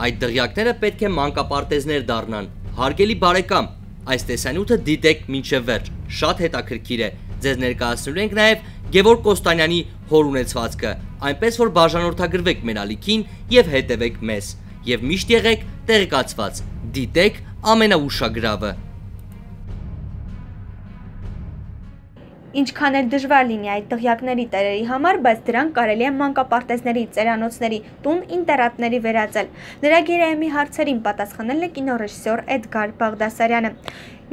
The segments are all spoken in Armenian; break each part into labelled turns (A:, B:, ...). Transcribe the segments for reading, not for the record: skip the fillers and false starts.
A: Այդ դղյակները պետք է մանկապարտեզներ դառնան։ Հարգելի բարեկամ, այս տեսանյութը դիտեք մինչև վերջ, շատ հետաքրքիր է։ Ձեզ ներկայացնելու ենք նաև Գևորգ Կոստանյանի հոր ունեցվածքը, այնպես որ բաժանորդագրվեք մեր ալիքին եւ հետևեք մեզ։ Եվ միշտ եղեք տեղեկացված, դիտեք ամենաուշագրավը։
B: Ինչքան էլ դժվար լինի այդ դղյակների տերերի համար, բայց դրանք կարելի է մանկապարտեզների, ծերանոցների, տուն ինտերնատների վերածել։ Նրա գերայմի հարցերին պատասխանել է կինոռեժիսոր Էդգար Բաղդասարյանը։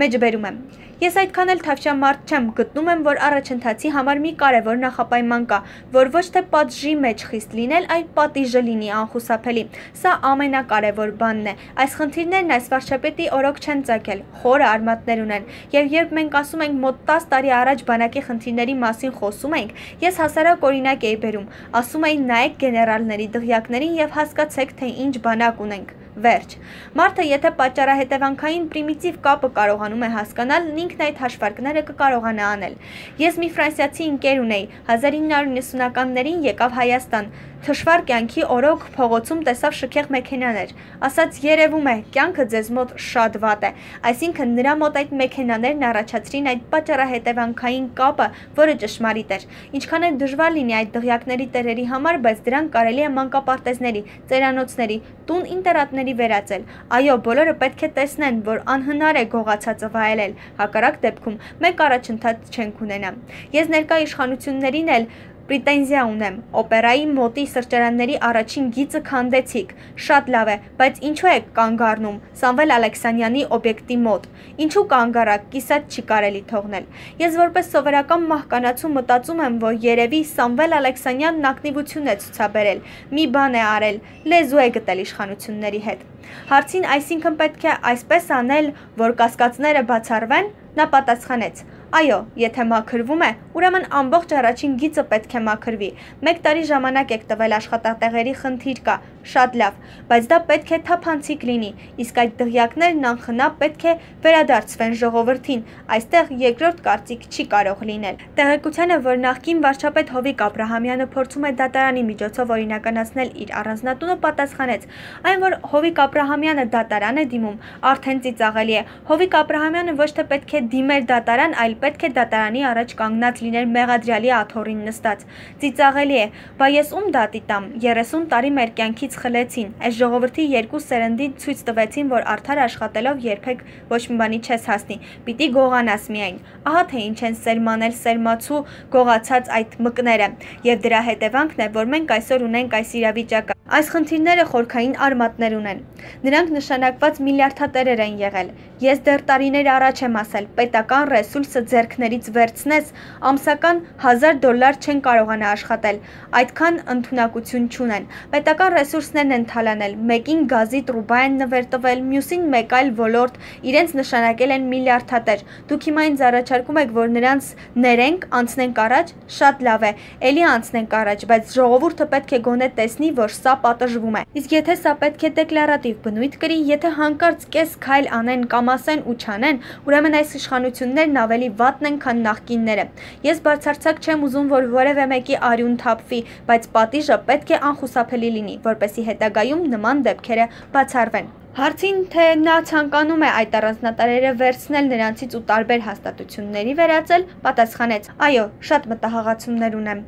B: Մեջբերում եմ։ Ես այդքան էլ թավշյա մարդ չեմ, գտնում եմ, որ առաջընթացի համար մի կարևոր նախապայման կա, որ ոչ թե պատժի մեջ խիստ լինել, այլ պատիժը լինի անխուսափելի։ Սա ամենակարևոր բանն է։ Այս խնդիրներն այս վարչապետի օրոք չեն ծագել, խորը արմատներ ունեն։ Եվ երբ մենք ասում ենք մոտ 10 տարի առաջ բանակի խնդիրների մասին խոսում ենք, ես հասարակ օրինակ էի բերում, ասում էի նայեք գեներալների դղյակներին եւ հասկացեք, թե ինչ բանակ ունենք։ Վերջ։ Մարդը եթե պատճառահետևանքային պրիմիտիվ կապը կարողանում է հասկանալ, ինքն այդ հաշվարկները կկարողանա անել։ Ես մի ֆրանսիացի ընկեր ունեի, 1990-ականներին եկավ Հայաստան, թշվառ կյանքի օրոք փողոցում տեսավ շքեղ մեքենաներ, ասաց երևում է, կյանքը ձեզ մոտ շատ վատ է, այսինքն նրա մոտ այդ մեքենաներն առաջացրին այդ պատճառահետևանքային կապը, որը ճշմարիտ էր։ Ինչքան է դժվար լինի այդ դղյակների տերերի համար, բայց դրանք կարելի է մանկապարտեզների, ծերանոցների, տուն ինտերնատների վերածել։ Այո, բոլորը պետք է տեսնեն, որ անհնար է գողացածը վայելել, հակառակ դեպքում մենք առաջընթաց չենք ունենա։ Ես ներկա իշխանություններին էլ պրետենզիա ունեմ, օպերայի մոտի սրճարանների առաջին գիծը քանդեցիք, շատ լավ է, բայց ինչու եք կանգ առնում Սամվել Ալեքսանյանի օբյեկտի մոտ, ինչու կանգ առաք, կիսատ չի կարելի թողնել։ Ես որպես սովորական մահկանացու մտածում եմ, որ երևի Սամվել Ալեքսանյանն ակտիվություն է ցուցաբերել, մի բան է արել, լեզու է գտել իշխանությունների հետ։ Հարցին այսինքն պետք է այսպես անել, որ կասկածները բացառվեն, նա պատասխանեց. Այո, եթե մաքրվում է, ուրեմն ամբողջ առաջին գիծը պետք է մաքրվի։ 1 տարի ժամանակ եք տվել, աշխատատեղերի խնդիր կա, շատ լավ, բայց դա պետք է թափանցիկ լինի, իսկ այդ դղյակներն անխնա պետք է վերադարձվեն ժողովրդին, այստեղ երկրորդ կարծիք չի կարող լինել։ Տեղեկությանը, որ նախկին վարչապետ Հովիկ Աբրահամյանը փորձում է դատարանի միջոցով օրինականացնել իր առանձնատունը, պատասխանեց, այն որ Հովիկ Աբրահամյանը դատարան է դիմում, արդեն ծիծաղելի է։ Հովիկ Աբրահամյանը ոչ թե պետք է դիմեր դատարան, այլ պետք է դատարանի առաջ կանգնած լիներ մեղադրյալի աթոռին նստած։ Ծիծաղելի է, բա ես ում դատի տամ, 30 տարի մեր կյանքից խլեցին, այս ժողովրդի երկու սերնդի ցույց տվեցին, որ արդար աշխատելով երբեք ոչ մի բանի չես հասնի, պիտի գողանաս միայն։ Ահա թե ինչ են սերմանել սերմացու գողացած այդ մկները, եւ դրա հետևանքն է, որ մենք այսօր ունենք այս իրավիճակը։ Այս խնդիրները խորքային արմատներ ունեն։ Նրանք նշանակված միլիարդատերեր են եղել։ Ես դեռ տարիներ առաջ եմ ասել, պետական ռեսուրսը ձեռքներից վերցնես, ամսական $1000 չեն կարողանա աշխատել, այդքան ընդունակություն չունեն։ Պետական ռեսուրսներն են թալանել, մեկին գազի տրուբա են նվեր տվել, մյուսին մեկ այլ ոլորտ, իրենց նշանակել են միլիարդատեր։ Դուք հիմա ինձ առաջարկում եք, որ նրանց ներենք, անցնենք առաջ, շատ լավ է, էլի անցնենք առաջ, բայց ժողովուրդը պետք է գոնե տեսնի, որ սա պատժվում է։ Իսկ եթե սա պետք է դեկլարատիվ բնույթ կրի, եթե հանկարծ կես քայլ անեն կամ ասեն ու չանեն, ուրեմն այս իշխանություններն ավելի վատն են, քան նախկինները։ Ես բացարձակ չեմ ուզում, որ որևէ մեկի արյուն թափվի, բայց պատիժը պետք է անխուսափելի լինի, որպեսզի հետագայում նման դեպքերը բացառվեն։ Հարցին, թե նա ցանկանում է այդ առանձնատարերը վերցնել նրանցից ու տարբեր հաստատությունների վերածել, պատասխանեց. Այո, շատ մտահղացումներ ունեմ։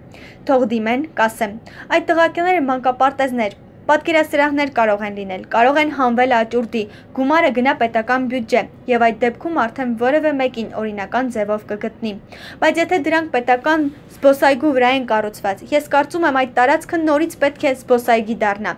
B: Թող դիմեն, կասեմ։ Այդ տղակները մանկապարտեզներ, պատկերասրահներ կարող են լինել, կարող են հանվել աճուրդի, գումարը գնա պետական բյուջե, եւ այդ դեպքում արդեն որևէ մեկին օրինական ձևով կգտնի։ Բայց եթե դրանք պետական զբոսայգու վրա են կառուցված, ես կարծում եմ այդ տարածքը նորից պետք է զբոսայգի դառնա։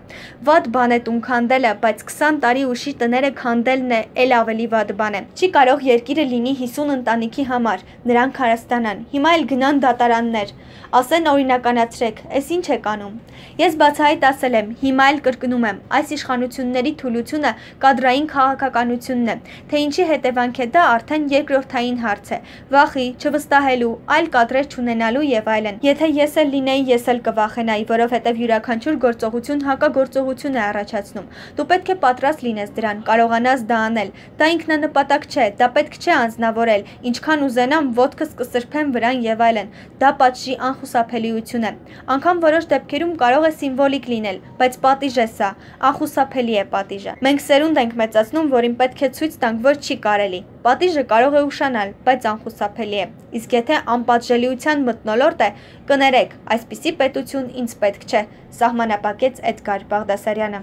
B: Վատ բան է տուն քանդելը, բայց 20 տարի ուշի տները քանդելն է էլ ավելի վատ բան է։ Չի կարող երկիրը լինի 50 ընտանիքի համար, նրանք հարստանան, հիմա էլ գնան դատարաններ, ասեն օրինականացրեք, այս ինչ եք անում։ Ես բացահայտ ասել եմ, հիմա էլ կրկնում եմ, այս իշխանությունների թուլությունը կադրային քաղաքականությունն է, թե ինչի հետևանք է դա արդեն երկրորդային հարց է, վախի, չվստահելու, այլ կադրեր չունենալու եւ այլն։ Եթե ես էլ լինեի, ես էլ կվախենայի, որովհետեւ յուրաքանչյուր գործողություն հակագործողություն է առաջացնում։ Դու պետք է պատրաստ լինես դրան, կարողանաս դա անել։ Դա ինքնանպատակ չէ, դա պետք չէ անձնավորել, ինչքան ուզենամ ոտքս կսրբեմ վրան եւ այլն։ Դա պատժի անխուսափելիություն է։ Անկամ որոշ դեպքերում կարող է սիմվոլիկ լինել, բայց պատիժ է սա, անխուսափելի է պատիժը։ Մենք սերունդ ենք մեծացնում, որին պետք է ցույց տանք, որ չի կարելի։ Պատիժը կարող է ուշանալ, բայց անխուսափելի է։ Իսկ եթե անպատժելիության մթնոլորտ է, կներեք, այսպիսի պետություն ինձ պետք չէ, սահմանափակեց Էդգար Բաղդասարյանը։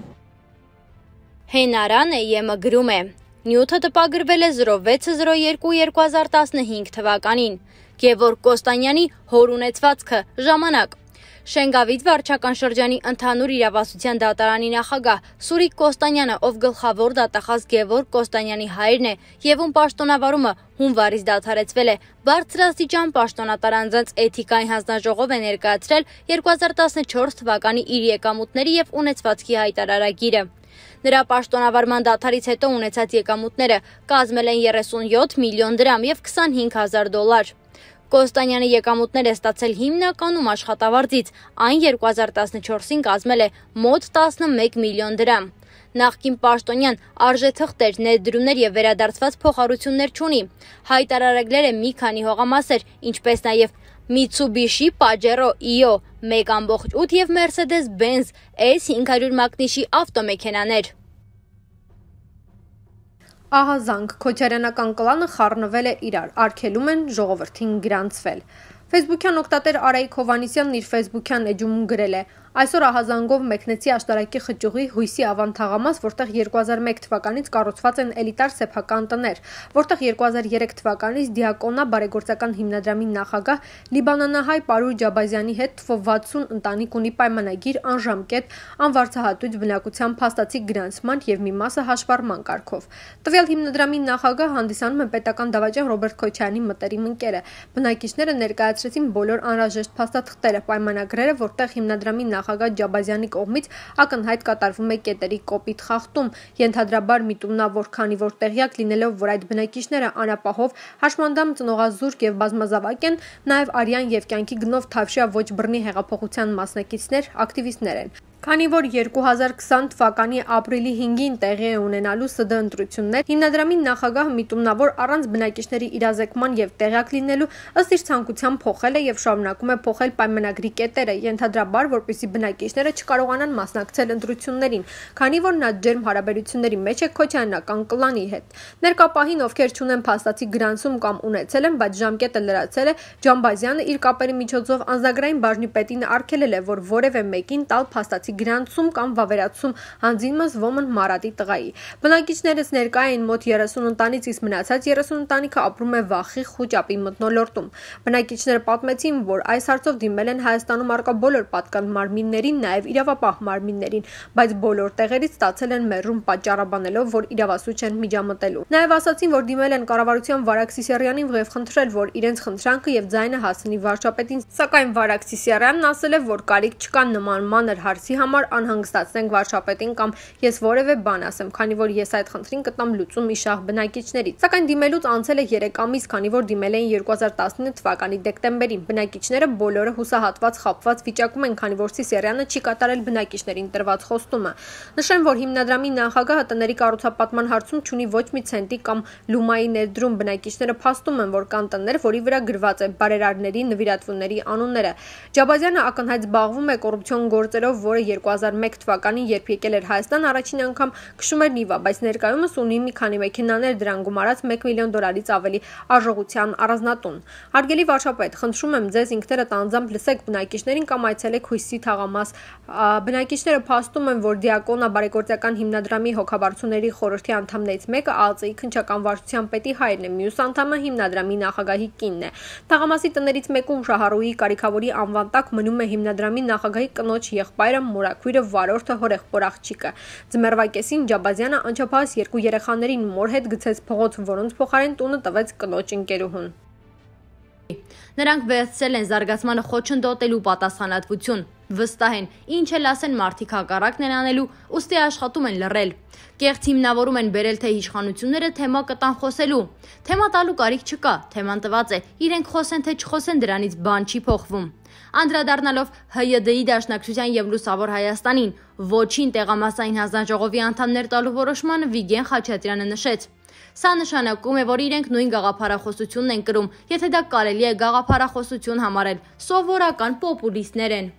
C: Հենարանը ԵՄ գրում է. Նյութը տպագրվել է 06/02/2015 թվականին։ Գևորգ Կոստանյանի հոր ունեցվածքը ժամանակ։ Շենգավիթ վարչական շրջանի ընդհանուր իրավասության դատարանի նախագահ Սուրիկ Կոստանյանը, ով գլխավոր դատախազ Գևորգ Կոստանյանի հայրն է եւ ում պաշտոնավարումը հունվարից դադարեցվել է, բարձրաստիճան պաշտոնատար անձանց էթիկայի հանձնաժողով է ներկայացրել 2014 թվականի իր եկամուտների եւ ունեցվածքի հայտարարագիրը։ Նրա պաշտոնավարման դադարից հետո ունեցած եկամուտները կազմել են 37 միլիոն դրամ եւ $20,000։ Կոստանյանը եկամուտներ է ստացել հիմնականում աշխատավարձից, այն 2014-ին կազմել է մոտ 11 միլիոն դրամ։ Նախկին պաշտոնյան արժեթղթեր, ներդրումներ եւ վերադարձված փոխառություններ չունի։ Հայտարարել է մի քանի հողամասեր, ինչպես նաեւ Mitsubishi Pajero EO 1.8 եւ Mercedes-Benz S500 մակնիշի ավտոմեքենաներ։
D: Ահազանգ քոչարյանական կլանը խառնվել է իրար, արգելում են ժողովրդին գրանցվել։ Ֆեյսբուքյան օգտատեր Արայիկ Հովանիսյանն իր ֆեյսբուքյան էջում գրել է. Այսօր ահազանգով մեկնեցի աշտարակի խճուղի հույսի ավան թաղամաս, որտեղ 2001 թվականից կառուցված են էլիտար սեփական տներ, որտեղ 2003 թվականից Դիակոնա բարեգործական հիմնադրամի նախագահ լիբանանահայ Պարուր Ջաբազյանի հետ թվով 60 ընտանիք ունի պայմանագիր անժամկետ անվարձահատույց բնակության փաստացի գրանցման եւ մի մասը հաշվառման կարգով։ Տվյալ հիմնադրամի նախագահ հանդիսանում է պետական դավաճան Ռոբերտ Քոչարյանի մտերիմ ընկերը։ Բնակիչները ներկայացրեցին բոլոր անհրաժեշտ փաստաթղթերը, պայմանագրերը, որտեղ հիմնադրամի նախագահ Ջաբազյանի կողմից ակնհայտ կատարվում է կետերի կոպիտ խախտում, ենթադրաբար միտումնավոր, քանի որ տեղյակ լինելով, որ այդ բնակիչները անապահով, հաշմանդամ ծնողազուրկ եւ բազմազավակ են, նաեւ արյան եւ կյանքի գնով թավշյա ոչ բռնի հեղափոխության մասնակիցներ, ակտիվիստներ են։ Քանի որ 2020 թվականի ապրիլի 5-ին տեղի է ունենալու ՍԴ ընտրություններ, հիմնադրամի նախագահը միտումնավոր առանց բնակիչների իրազեկման եւ տեղյակ լինելու ըստ իր ցանկության փոխել է եւ շարունակում է փոխել պայմանագրի կետերը, ենթադրաբար, որպեսզի բնակիչները չկարողանան մասնակցել ընտրություններին, քանի որ նա ջերմ հարաբերությունների մեջ է քոչայանական կլանի հետ։ Ներկապահին, ովքեր չունեն փաստացի գրանցում կամ ունեցել են, բայց ժամկետը լրացել է, Ջամբազյանը իր կապերի միջոցով անձնագրային բաժնի պետին արգելել է, որ որևէ մեկին տալ փաստացի գրանցում կամ վավերացում հանձինմս ոմն Մարատի տղայի։ Բնակիչներս ներկա էին մոտ 30 ընտանից, իսկ մնացած 30 ընտանիքը ապրում է Վախի խուճապի մթնոլորտում։ Բնակիչները պատմեցին, որ այս հարցով դիմել են Հայաստանում առկա բոլոր պատկան մարմիններին, նաև իրավապահ մարմիններին, բայց բոլոր տեղերից ստացել են մերժում պատճառաբանելով, որ իրավասու չեն միջամտելու։ Նաև ասացին, որ դիմել են կառավարության Վարակ Սիսիարյանին եւ խնդրել, որ իրենց խնդրանքը եւ ձայնը հասնի վարչապետին, սակայն Վարակ Սիսիարյանն ասել է, որ կարիք չկա նման մանր հարցի համար անհանգստացնենք վարչապետին կամ ես որևէ բան ասեմ, քանի որ ես այդ խնդրին կտամ լուծում իշահ բնակիչներից։ Սակայն դիմելուց անցել է 3 ամիս, քանի որ դիմել էին 2019 թվականի դեկտեմբերին։ Բնակիչները բոլորը հուսահատված խաբված վիճակում են, քանի որ Սիսիարյանը չի կատարել բնակիչներին տրված խոստումը։ Նշեմ, որ հիմնադրամի նախագահը տների կառուցապատման հարցում չունի ոչ մի ցենտի կամ լումայի ներդրում։ Բնակիչները փաստում են, որ կան տներ, որի վրա գրված է բարերարների, նվիրատվությունների անունները։ Ջաբազյանը ակնհայտ զբաղվում է կոռուպցիոն գործերով, որը 2001 թվականին, երբ եկել էր Հայաստան, առաջին անգամ քշում էր Նիվա, բայց ներկայումս ունի մի քանի մեքենաներ, դրան գումարած $1 միլիոն ավելի արժողության առանձնատուն։ Հարգելի վարչապետ, խնդրում եմ ձեզ ինքներդ անձամբ լսեք բնակիչներին կամ այցելեք հույսի թաղամաս։ Բնակիչները փաստում են, որ Դիակոնա բարեգործական հիմնադրամի հոգաբարձուների խորհրդի անդամներից մեկը ԱԱԾ-ի քննչական վարչության պետի հայրն է, մյուս անդամը հիմնադրամի նախագահի կինն է։ Թաղամասի տներից մեկում Շահառուհի Կարիքավորի անվան տակ մնում է հիմնադրամի նախագահի կնոջ եղբայրը, մորաքույրը, վարորդը, հորեղբոր աղջիկը։ Ձմեռվա կեսին Ջաբազյանը անչափահաս 2 երեխաներին մոր հետ գցեց փողոց, որոնց փոխարեն տունը տվեց կնոջ ընկերուհուն։
C: Նրանք վերցրել են զարգացմանը խոչընդոտելու պատասխանատվություն։ Վստահ են, ինչ էլ ասեն մարդիկ հակառակն են անելու, ուստի աշխատում են լռել։ Կեղծ հիմնավորում են բերել թե իշխանությունները թեմա կտան խոսելու։ Թեմա տալու կարիք չկա, թեման տված է, իրենք խոսեն թե չխոսեն, դրանից բան չի փոխվում։ Անդրադառնալով ՀՅԴ-ի Դաշնակցության եւ Լուսավոր Հայաստանին ոչին տեղամասային հանձնաժողովի անդամներ տալու որոշմանը Վիգեն Խաչատրյանը նշեց. Սա նշանակում է, որ իրենք նույն գաղափարախոսությունն են կրում, եթե դա կարելի է գաղափարախոսություն համարել, սովորական պոպուլիստներ են։